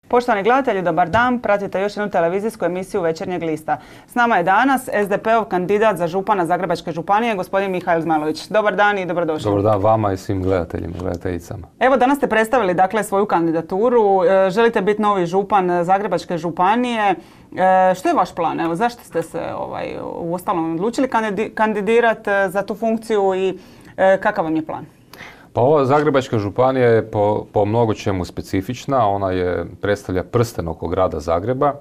Poštovani gledatelji, dobar dan. Pratite još jednu televizijsku emisiju Večernjeg lista. S nama je danas SDP-ov kandidat za župana Zagrebačke županije, gospodin Mihael Zmajlović. Dobar dan i dobrodošli. Dobar dan vama i svim gledateljima i gledateljicama. Evo, danas ste predstavili svoju kandidaturu. Želite biti novi župan Zagrebačke županije. Što je vaš plan? Evo, zašto ste se uostalom odlučili kandidirati za tu funkciju i kakav vam je plan? Pa ova Zagrebačka županija je po mnogo čemu specifična. Ona predstavlja prsten oko grada Zagreba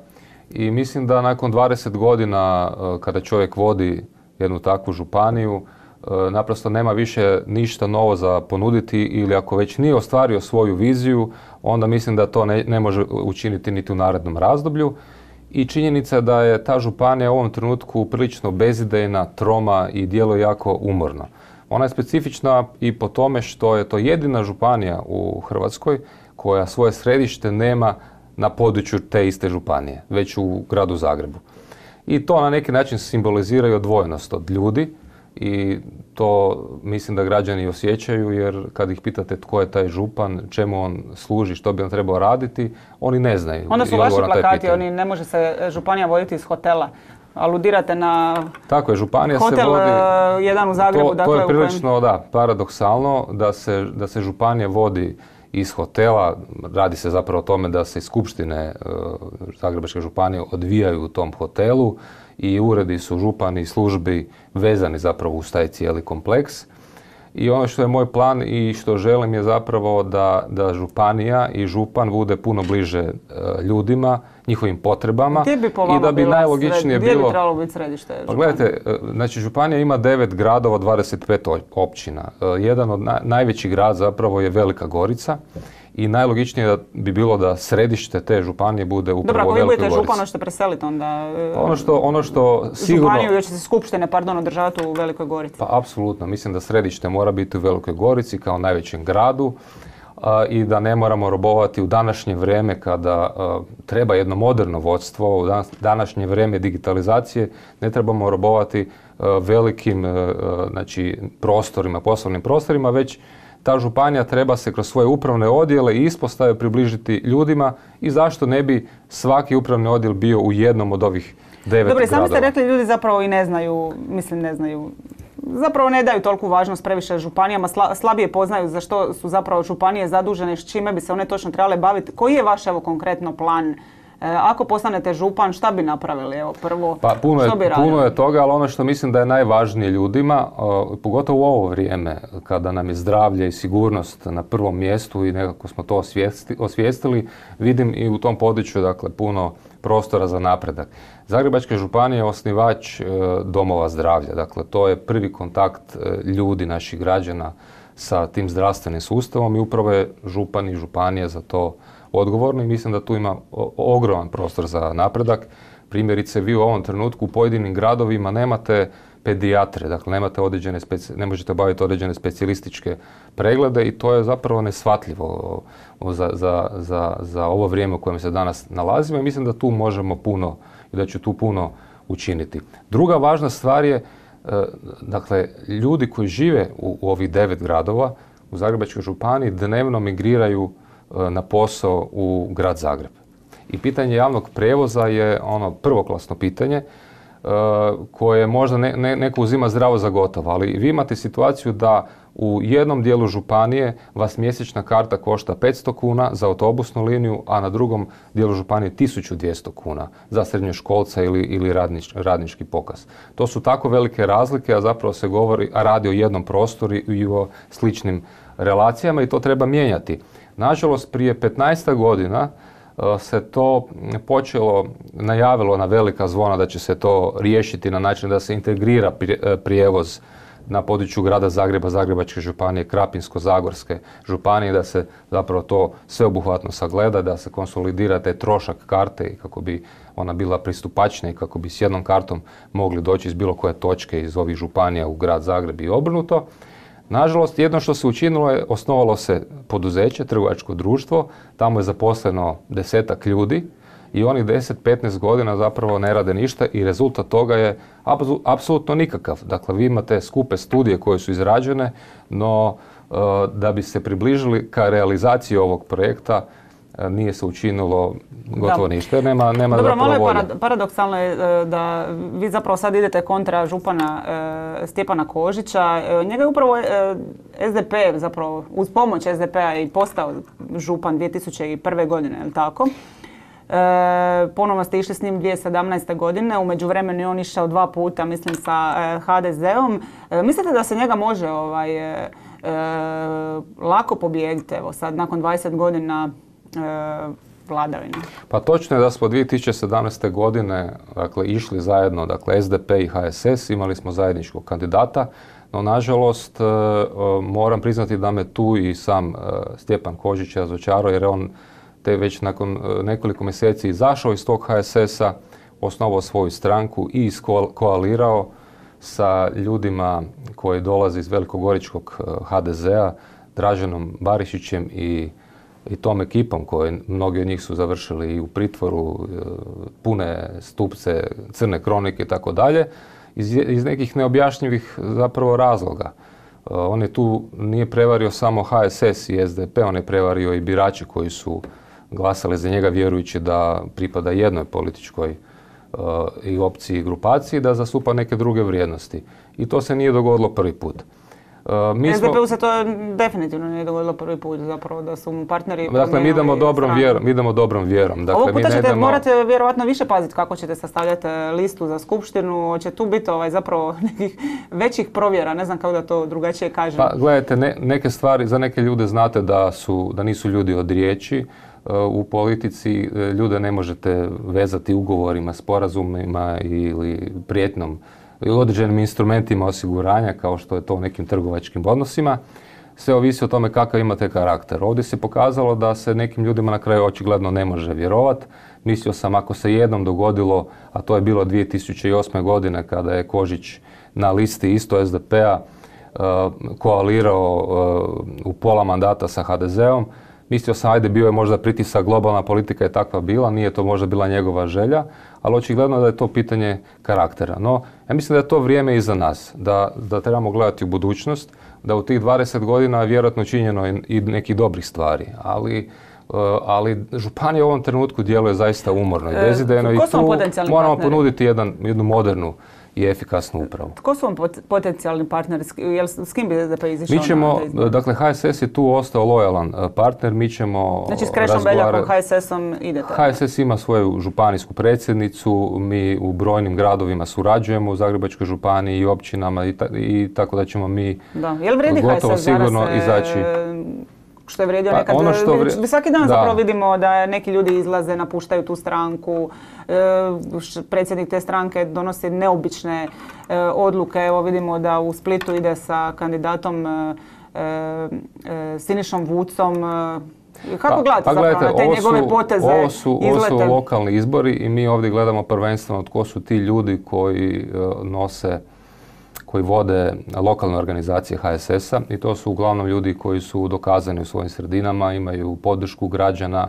i mislim da nakon 20 godina kada čovjek vodi jednu takvu županiju naprosto nema više ništa novo za ponuditi ili ako već nije ostvario svoju viziju, onda mislim da to ne može učiniti niti u narednom razdoblju. I činjenica da je ta županija u ovom trenutku prilično bezidejna, troma i djeluje jako umorno. Ona je specifična i po tome što je to jedina županija u Hrvatskoj koja svoje središte nema na području te iste županije, već u gradu Zagrebu. I to na neki način simbolizira i odvojenost od ljudi i to mislim da građani osjećaju, jer kad ih pitate tko je taj župan, čemu on služi, što bi on trebao raditi, oni ne znaju. Onda su vaši plakati, oni ne može se županija voditi iz hotela. Aludirate na tako je, županija hotel se vodi, jedan u Zagrebu. To je prilično paradoksalno da se županija vodi iz hotela. Radi se zapravo o tome da se skupštine Zagrebačke županije odvijaju u tom hotelu i uredi su župani i službi vezani zapravo uz taj cijeli kompleks. I ono što je moj plan i što želim je zapravo da županija i župan bude puno bliže ljudima, njihovim potrebama. Gdje bi po vama i da bi najlogičnije bilo... Gdje bi trebalo biti središte županije? Pa gledajte, znači županija ima 9 gradova, 25 općina. Jedan od najvećih grad zapravo je Velika Gorica i najlogičnije bi bilo da središte te županije bude upravo u Velikoj Gorici. Dobro, ako vi budete župan, hoćete preseliti onda ono što sigurno... županiju gdje će se skupštine, održavati u Velikoj Gorici? Pa apsolutno, mislim da središte mora biti u Velikoj Gorici kao najvećem gradu i da ne moramo robovati u današnje vrijeme kada treba jedno moderno vodstvo, u današnje vrijeme digitalizacije, ne trebamo robovati velikim prostorima, poslovnim prostorima, već ta županija treba se kroz svoje upravne odjele i ispostave približiti ljudima i zašto ne bi svaki upravni odjel bio u jednom od ovih 9 gradova. Dobro, i sami ste rekli, ljudi zapravo i ne znaju, zapravo ne daju toliku važnost previše županijama, slabije poznaju za što su zapravo županije zadužene, s čime bi se one točno trebale baviti. Koji je vaš konkretno plan? Ako postanete župan, šta bi napravili? Prvo, što bi radili? Puno je toga, ali ono što mislim da je najvažnije ljudima, pogotovo u ovo vrijeme, kada nam je zdravlje i sigurnost na prvom mjestu i nekako smo to osvijestili, vidim i u tom području puno prostora za napredak. Zagrebačka županija je osnivač domova zdravlja, to je prvi kontakt ljudi, naših građana sa tim zdravstvenim sustavom i upravo je župan i županija za to odgovorno i mislim da tu ima ogroman prostor za napredak. Primjerice, vi u ovom trenutku u pojedinim gradovima nemate pedijatre, ne možete obaviti određene specijalističke preglede i to je zapravo neshvatljivo za ovo vrijeme u kojem se danas nalazimo i mislim da tu možemo puno i da ću tu puno učiniti. Druga važna stvar je, ljudi koji žive u ovih 9 gradova u Zagrebačkoj županiji dnevno migriraju na posao u grad Zagreb. I pitanje javnog prijevoza je ono prvoklasno pitanje koje možda neko uzima zdravo za gotovo, ali vi imate situaciju da u jednom dijelu županije vas mjesečna karta košta 500 kuna za autobusnu liniju, a na drugom dijelu županije 1200 kuna za srednjoškolca ili radnički pokaz. To su tako velike razlike, a zapravo se radi o jednom prostoru i o sličnim relacijama i to treba mijenjati. Nažalost, prije 15 godina se to najavilo na velika zvona da će se to riješiti na način da se integrira prijevoz na području grada Zagreba, Zagrebačke županije, Krapinsko-zagorske županije, da se zapravo to sveobuhvatno sagleda, da se konsolidira taj trošak karte i kako bi ona bila pristupačnija i kako bi s jednom kartom mogli doći iz bilo koje točke iz ovih županija u grad Zagreb i obrnuto. Nažalost, jedno što se učinilo je, osnovalo se poduzeće, trgovačko društvo, tamo je zaposleno 10-ak ljudi i oni 10-15 godina zapravo ne rade ništa i rezultat toga je apsolutno nikakav. Dakle, vi imate skupe studije koje su izrađene, no da bi se približili ka realizaciji ovog projekta, nije se učinilo gotovo ništa jer nema Dobro, zapravo malo volje. je paradoksalno je da vi zapravo sad idete kontra župana Stjepana Kožića. Njega je upravo SDP zapravo uz pomoć SDP-a i postao župan 2001. godine, je li tako? Ponovno ste išli s njim 2017. godine, u međuvremenu je on išao 2 puta, mislim, sa HDZ-om. Mislite da se njega može lako pobijediti, evo sad, nakon 20 godina vladavine? Pa točno je da smo 2017. godine dakle, išli zajedno, dakle SDP i HSS, imali smo zajedničkog kandidata, no nažalost moram priznati da me tu i sam Stjepan Kožić razočarao jer on te već nakon nekoliko mjeseci izašao iz tog HSS-a, osnovao svoju stranku i koalirao sa ljudima koji dolaze iz velikogoričkog HDZ-a, Draženom Barišićem i tom ekipom koji mnogi od njih su završili i u pritvoru, pune stupce, crne kronike i tako dalje, iz nekih neobjašnjivih zapravo razloga. On je tu nije prevario samo HSS i SDP, on je prevario i birače koji su glasali za njega vjerujući da pripada jednoj političkoj i opciji i grupaciji, da zastupa neke druge vrijednosti. I to se nije dogodilo prvi put. SDP-u se to definitivno nije dogodilo prvi put, zapravo da su mu partneri... Dakle, mi idemo dobrom vjerom. Dakle, ovog puta ćete morate vjerovatno više paziti kako ćete sastavljati listu za skupštinu. Će tu biti zapravo nekih većih provjera, ne znam kako da to drugačije kažem. Pa gledajte, neke stvari za neke ljude znate da nisu ljudi od riječi. U politici ljude ne možete vezati ugovorima, sporazumima ili prijetnom i određenim instrumentima osiguranja kao što je to u nekim trgovačkim odnosima. Sve ovisi o tome kakav imate karakter. Ovdje se pokazalo da se nekim ljudima na kraju očigledno ne može vjerovati. Mislio sam ako se jednom dogodilo, a to je bilo 2008. godine kada je Kožić na listi isto SDP-a koalirao u pola mandata sa HDZ-om, mislio sam, ajde, bio je možda pritisak, globalna politika je takva bila, nije to možda bila njegova želja, ali očigledno da je to pitanje karaktera. No, ja mislim da je to vrijeme iza nas, da trebamo gledati u budućnost, da u tih 20 godina je vjerojatno činjeno i nekih dobrih stvari, ali županija u ovom trenutku djeluje zaista umorno i bezidejno i tu moramo ponuditi jednu modernu i efikasnu upravu. Tko su vam potencijalni partneri? S kim bi SDP izišao? Dakle, HSS je tu ostao lojalan partner. Mi ćemo znači, s Krešom Beljakom, HSS-om idete? HSS ima svoju županijsku predsjednicu. Mi u brojnim gradovima surađujemo u Zagrebačkoj županiji i općinama i tako da ćemo mi gotovo sigurno izaći. Što je vrijedio nekad. Svaki dan zapravo vidimo da neki ljudi izlaze, napuštaju tu stranku. Predsjednik te stranke donosi neobične odluke. Evo vidimo da u Splitu ide sa kandidatom Sinišom Vucom. Kako gledate zapravo na te njegove poteze? Ovo su lokalni izbori i mi ovdje gledamo prvenstveno tko su ti ljudi koji vode lokalne organizacije HSS-a i to su uglavnom ljudi koji su dokazani u svojim sredinama, imaju podršku građana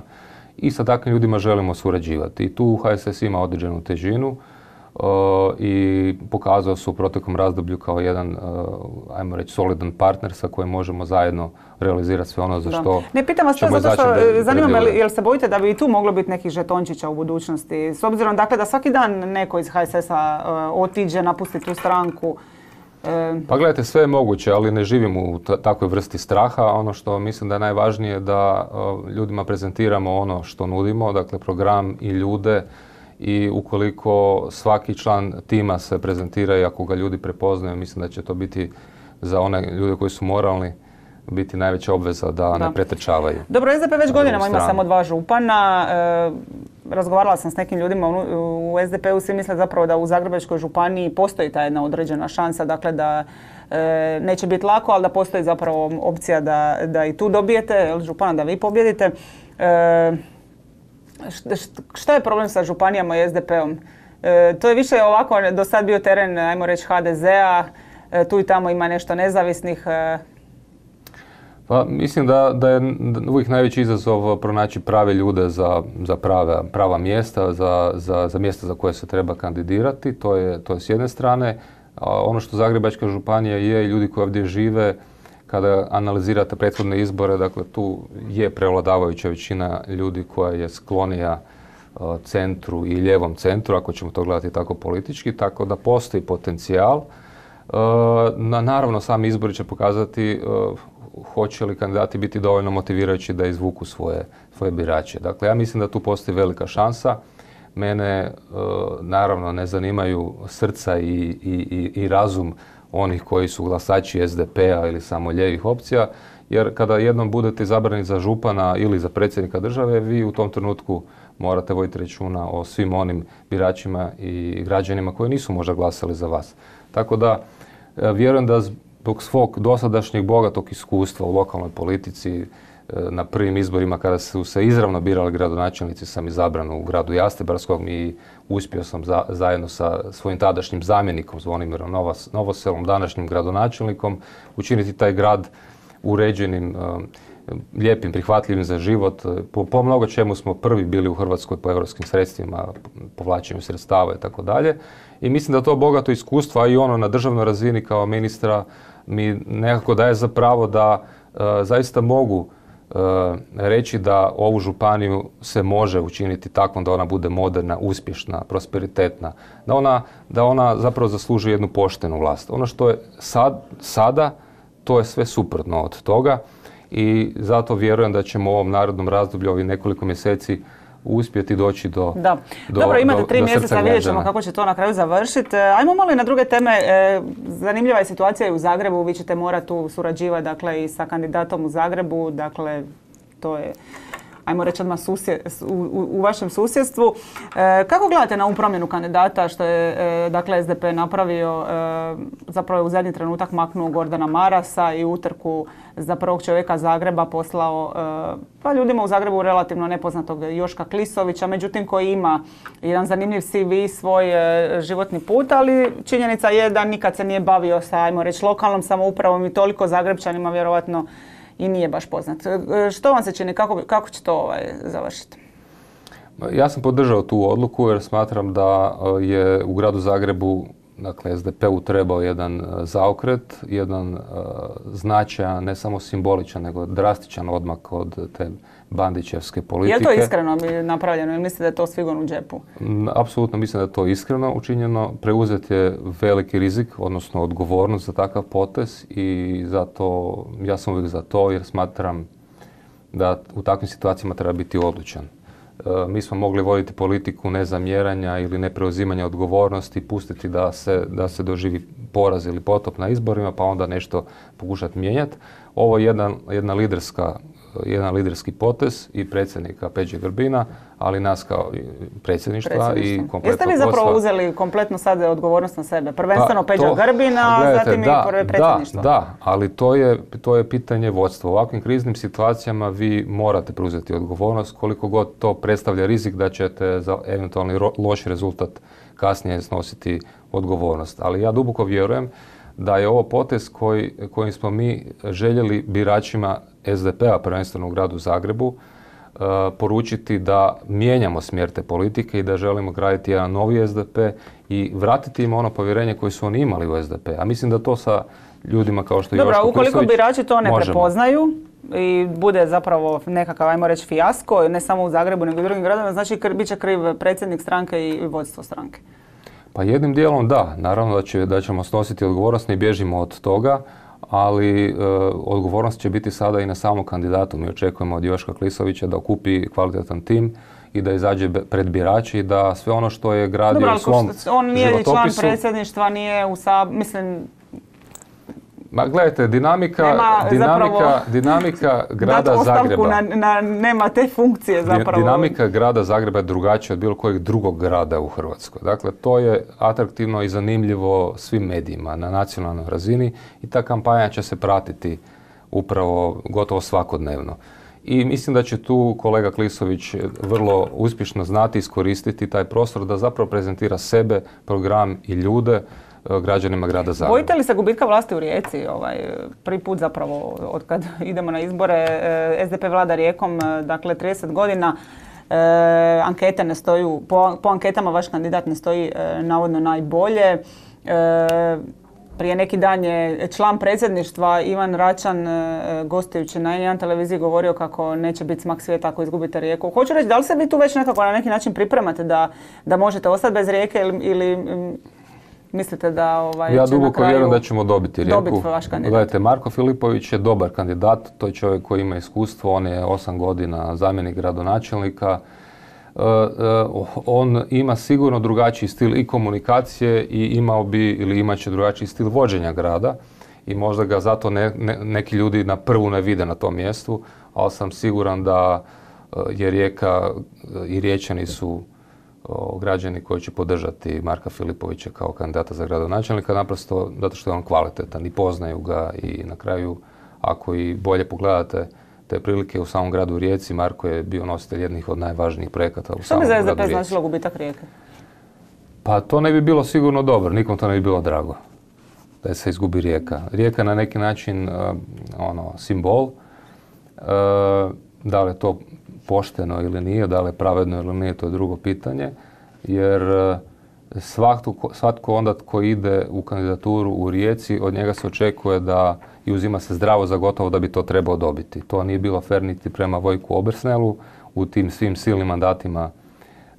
i sa takvim ljudima želimo surađivati. I tu HSS ima određenu težinu i pokazao se u proteklom razdoblju kao jedan, ajmo reći, solidan partner sa kojim možemo zajedno realizirati sve ono za što ne pitam vas to zato što zanima me jel se bojite da bi i tu moglo biti nekih žetončića u budućnosti? S obzirom dakle da svaki dan neko iz HSS-a otiđe, napusti tu stranku. Pa gledajte, sve je moguće, ali ne živimo u takvoj vrsti straha. Ono što mislim da je najvažnije da ljudima prezentiramo ono što nudimo, dakle program i ljude i ukoliko svaki član tima se prezentira i ako ga ljudi prepoznaju, mislim da će to biti za one ljude koji su moralni biti najveća obveza da ne pretrčavaju. Dobro, SDP već godinama ima samo 2 župana. Razgovarala sam s nekim ljudima u SDP-u, svi misle zapravo da u Zagrebačkoj županiji postoji ta jedna određena šansa, dakle da neće biti lako, ali da postoji zapravo opcija da i tu dobijete župana, da vi pobjedite. Šta je problem sa županijama i SDP-om? To je više ovako do sad bio teren, ajmo reći, HDZ-a, tu i tamo ima nešto nezavisnih. Pa mislim da je uvijek najveći izazov pronaći prave ljude za prava mjesta, za mjesta za koje se treba kandidirati. To je s jedne strane. Ono što Zagrebačka županija je i ljudi koji ovdje žive, kada analizirate prethodne izbore, dakle tu je prevladavajuća većina ljudi koja je sklonija centru i lijevom centru, ako ćemo to gledati tako politički, tako da postoji potencijal. Naravno, sami izbori će pokazati hoće li kandidati biti dovoljno motivirajući da izvuku svoje birače. Dakle, ja mislim da tu postoji velika šansa. Mene naravno ne zanimaju srca i razum onih koji su glasači SDP-a ili samo lijevih opcija, jer kada jednom budete izabrani za župana ili za predsjednika države, vi u tom trenutku morate voditi računa o svim onim biračima i građanima koji nisu možda glasali za vas. Tako da vjerujem da zbog svog dosadašnjeg bogatog iskustva u lokalnoj politici, na prvim izborima kada su se izravno birali gradonačelnici, sam izabran u gradu Jastrebarskom i uspio sam zajedno sa svojim tadašnjim zamjenikom Zvonimirom Novoselom, današnjim gradonačelnikom, učiniti taj grad uređenim, lijepim, prihvatljivim za život. Po mnogo čemu smo prvi bili u Hrvatskoj po europskim sredstvima, povlačenju sredstava i tako dalje. I mislim da to bogato iskustvo, a i ono na državnoj razini kao ministra, mi nekako daje za pravo da zaista mogu reći da ovu županiju se može učiniti takvom da ona bude moderna, uspješna, prosperitetna, da ona zapravo zaslužuje jednu poštenu vlast. Ono što je sada, to je sve suprotno od toga i zato vjerujem da ćemo u ovom narednom razdoblju, ovih nekoliko mjeseci, uspjeti doći do Dobro, imate 3 mjeseca, vidjet ćemo kako će to na kraju završiti. Ajmo malo i na druge teme. Zanimljiva je situacija i u Zagrebu. Vi ćete morati tu surađivati, dakle, i sa kandidatom u Zagrebu. Dakle, to je, ajmo reći odmah, u vašem susjedstvu. Kako gledate na ovu promjenu kandidata što je, dakle, SDP napravio? Zapravo je u zadnji trenutak maknuo Gordana Marasa i utrku za prvog čovjeka Zagreba poslao pa ljudima u Zagrebu relativno nepoznatog Joška Klisovića, međutim koji ima jedan zanimljiv CV, svoj životni put, ali činjenica je da nikad se nije bavio sa, ajmo reći, lokalnom samoupravom i toliko Zagrebčanima vjerovatno i nije baš poznat. Što vam se čini, kako će to završiti? Ja sam podržao tu odluku jer smatram da je u gradu Zagrebu, dakle, SDP-u trebao jedan zaokret, jedan značajan, ne samo simboličan, nego drastičan odmak od te bandićevske politike. Je li to iskreno napravljeno ili mislite da je to svigon u džepu? Apsolutno mislim da je to iskreno učinjeno. Preuzet je veliki rizik, odnosno odgovornost za takav potez i zato ja sam uvijek za to jer smatram da u takvim situacijama treba biti odlučan. Mi smo mogli voditi politiku nezamjeranja ili nepreuzimanja odgovornosti, pustiti da se doživi poraz ili potop na izborima, pa onda nešto pokušati mijenjati. Ovo je jedan liderski potez i predsjednika Peđe Grbina, ali nas kao predsjedništva i kompletno vodstva. Jeste vi zapravo uzeli kompletno sad odgovornost na sebe? Prvenstveno Peđa Grbina, a zatim i predsjedništvo. Da, ali to je pitanje vodstva. U ovakvim kriznim situacijama vi morate preuzeti odgovornost koliko god to predstavlja rizik da ćete za eventualni loš rezultat kasnije snositi odgovornost. Ali ja duboko vjerujem da je ovo potez kojim smo mi željeli biračima SDP-a, prvenstveno u gradu Zagrebu, poručiti da mijenjamo smjer te politike i da želimo graditi jedan novi SDP i vratiti im ono povjerenje koje su oni imali u SDP. A mislim da to sa ljudima kao što je Joško Klisović možemo. Ukoliko birači to ne prepoznaju i bude zapravo nekakav, ajmo reći, fijasko, ne samo u Zagrebu nego i drugim gradovima, znači bit će kriv predsjednik stranke i vodstvo stranke. Pa jednim dijelom da, naravno da ćemo snositi odgovornost, ne bježimo od toga, ali odgovornost će biti sada i na samom kandidatu. Mi očekujemo od Joška Klisovića da okupi kvalitetan tim i da izađe pred birači i da sve ono što je gradio u svom životopisu... On nije član predsjedništva, nije u mislim... Ma gledajte, dinamika grada Zagreba... nema te funkcije zapravo. Dinamika grada Zagreba je drugačija od bilo kojeg drugog grada u Hrvatskoj. Dakle, to je atraktivno i zanimljivo svim medijima na nacionalnoj razini i ta kampanja će se pratiti upravo gotovo svakodnevno. I mislim da će tu kolega Klisović vrlo uspješno znati iskoristiti taj prostor da zapravo prezentira sebe, program i ljude građanima grada Zagreba. Bojite li se gubitka vlasti u Rijeci? Prvi put zapravo od kad idemo na izbore, SDP vlada Rijekom, dakle 30 godina, ankete ne stoju, po anketama vaš kandidat ne stoji navodno najbolje. Prije neki dan je član predsjedništva Ivan Račan gostujući na N1 televiziji govorio kako neće biti smak svijeta ako izgubite Rijeku. Hoću reći, da li se vi tu već nekako na neki način pripremate da možete ostati bez Rijeke ili mislite da ja duboko vjerujem da ćemo dobiti Rijeku. Vaš kandidat. Gledajte, Marko Filipović je dobar kandidat, to je čovjek koji ima iskustvo, on je 8 godina zamjenik gradonačelnika. On ima sigurno drugačiji stil i komunikacije i imao bi ili imat će drugačiji stil vođenja grada i možda ga zato neki ljudi na prvu ne vide na tom mjestu, ali sam siguran da je Rijeka i Riječani su građani koji će podržati Marka Filipovića kao kandidata za gradonačelnika, naprosto zato što je on kvalitetan i poznaju ga i na kraju, ako i bolje pogledate te prilike u samom gradu Rijeci, Marko je bio nositelj jednih od najvažnijih projekata u samom gradu Rijeci. Što bi za SDP značilo gubitak Rijeke? Pa to ne bi bilo sigurno dobro, nikom to ne bi bilo drago da se izgubi Rijeka. Rijeka na neki način simbol, da li je to pošteno ili nije, da li je pravedno ili nije, to je drugo pitanje, jer svatko onda tko ide u kandidaturu u Rijeci, od njega se očekuje da i uzima se zdravo za gotovo da bi to trebao dobiti. To nije bilo fer niti prema Vojku Obersnelu u tim svim silnim mandatima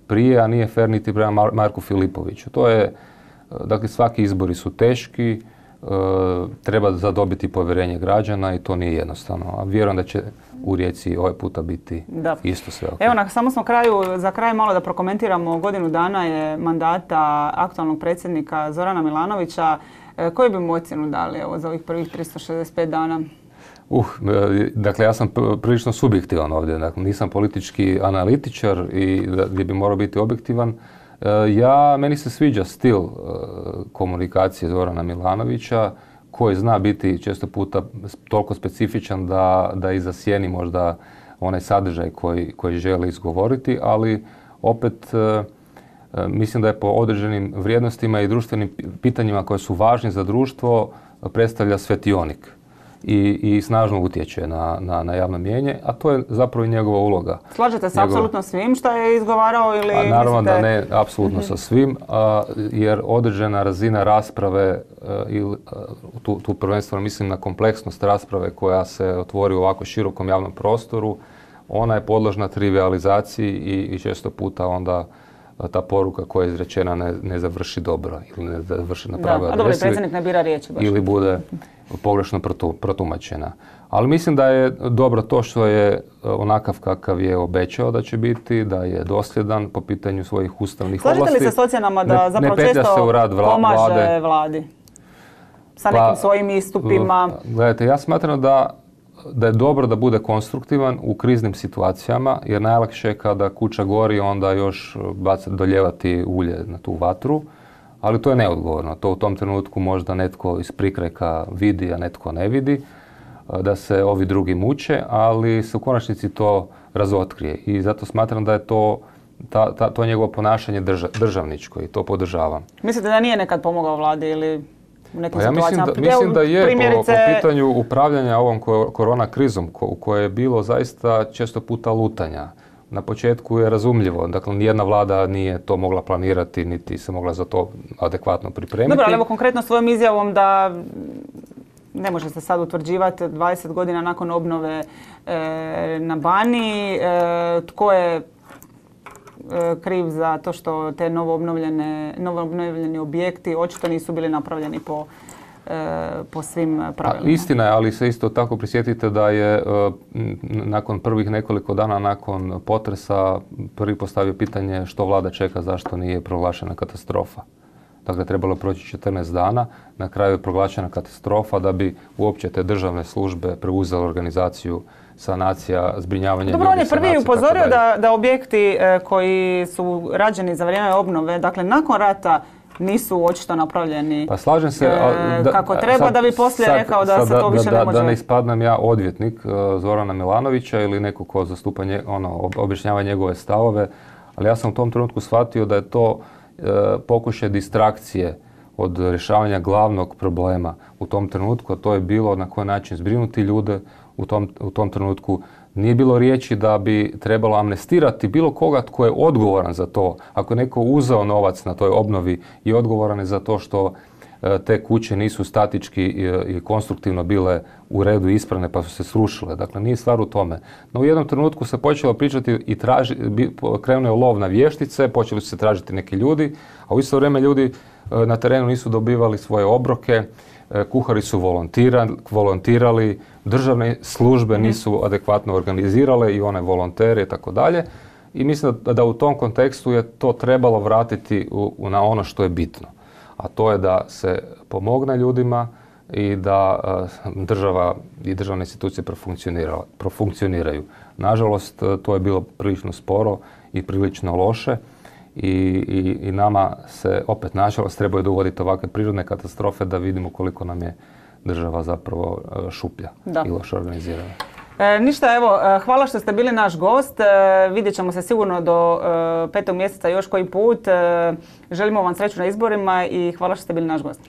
prije, a nije fer niti prema Marku Filipoviću. To je, dakle, svaki izbori su teški, treba zadobiti povjerenje građana i to nije jednostavno. A vjerujem da će u Rijeci ovaj puta biti isto sve. Evo, samo smo za kraj malo da prokomentiramo. Godinu dana je mandata aktualnog predsjednika Zorana Milanovića. Koju bi mu ocjenu dali za ovih prvih 365 dana? Dakle, ja sam prilično subjektivan ovdje. Dakle, nisam politički analitičar i gdje bi morao biti objektivan. Meni se sviđa stil komunikacije Zorana Milanovića, koji zna biti često puta toliko specifičan da i zasjeni možda onaj sadržaj koji želi izgovoriti, ali opet mislim da je po određenim vrijednostima i društvenim pitanjima koje su važni za društvo predstavlja svetionik i snažno utječe na javno mnijenje, a to je zapravo i njegova uloga. Slažete se apsolutno svim što je izgovarao ili mislite? Naravno da ne apsolutno sa svim, jer određena razina rasprave, tu prvenstveno mislim na kompleksnost rasprave koja se otvori u ovako širokom javnom prostoru, ona je podložna trivializaciji i često puta onda ta poruka koja je izrečena ne završi dobro ili ne završi na pravoj adresi. A dobro, predsjednik ne bira riječi baš. Ili bude pogrešno protumačena. Ali mislim da je dobro to što je onakav kakav je obećao da će biti, da je dosljedan po pitanju svojih ustavnih ovlasti. Slažete li se s ocjenama da zapravo često pomaže vladi sa nekim svojim istupima? Gledajte, ja smatram da je dobro da bude konstruktivan u kriznim situacijama, jer najlakše je kada kuća gori onda još doljevati ulje na tu vatru, ali to je neodgovorno. To u tom trenutku možda netko iz prikrajka vidi, a netko ne vidi, da se ovi drugi muče, ali se u konačnici to razotkrije. I zato smatram da je to njegovo ponašanje državničko i to podržavam. Mislite da nije nekad pomogao vladi ili u nekim situacijama? Mislim da je po pitanju upravljanja ovom korona krizom u kojoj je bilo zaista često puta lutanja. Na početku je razumljivo, dakle nijedna vlada nije to mogla planirati niti se mogla za to adekvatno pripremiti. Dobro, ali evo konkretno svojom izjavom da ne može se sad utvrđivati 20 godina nakon obnove na Baniji, tko je kriv za to što te novoobnovljeni objekti očito nisu bili napravljeni po svim pravilima. Istina je, ali se isto tako prisjetite da je nakon prvih nekoliko dana nakon potresa prvi postavio pitanje što vlada čeka, zašto nije proglašena katastrofa. Dakle, trebalo je proći 14 dana, na kraju je proglašena katastrofa da bi uopće te državne službe preuzele organizaciju sanacija, zbrinjavanje ljudi. Dobro, on je prvi upozorio da objekti koji su rađeni za vrijeme obnove, dakle nakon rata, nisu očito napravljeni slažem se, kako treba, da bi poslije rekao da se to više ne može. Da ne ispadnem ja odvjetnik Zorana Milanovića ili neko ko zastupa objašnjava njegove stavove, ali ja sam u tom trenutku shvatio da je to pokušaj distrakcije od rješavanja glavnog problema u tom trenutku, a to je bilo na koji način zbrinuti ljude u tom trenutku. Nije bilo riječi da bi trebalo amnestirati bilo koga tko je odgovoran za to. Ako je neko uzeo novac na toj obnovi i odgovoran je za to što te kuće nisu statički i konstruktivno bile u redu ispravne pa su se srušile. Dakle, nije stvar u tome. No u jednom trenutku se počelo pričati i krenuo je lov na vještice, počeli su se tražiti neki ljudi, a u isto vrijeme ljudi na terenu nisu dobivali svoje obroke, kuhari su volontirali, državne službe nisu adekvatno organizirale i one volontere i tako dalje. I mislim da u tom kontekstu je to trebalo vratiti na ono što je bitno. A to je da se pomogne ljudima i da država i državne institucije profunkcioniraju. Nažalost, to je bilo prilično sporo i prilično loše i nama se opet nažalost trebaju dogoditi ovakve prirodne katastrofe da vidimo koliko nam je država zapravo šuplja i loše organizirana. Ništa, evo, hvala što ste bili naš gost. Vidjet ćemo se sigurno do 5. mjeseca još koji put. Želimo vam sreću na izborima i hvala što ste bili naš gost.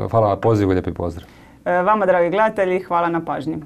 Hvala na pozivu, lijepi pozdrav. Vama, dragi gledatelji, hvala na pažnji.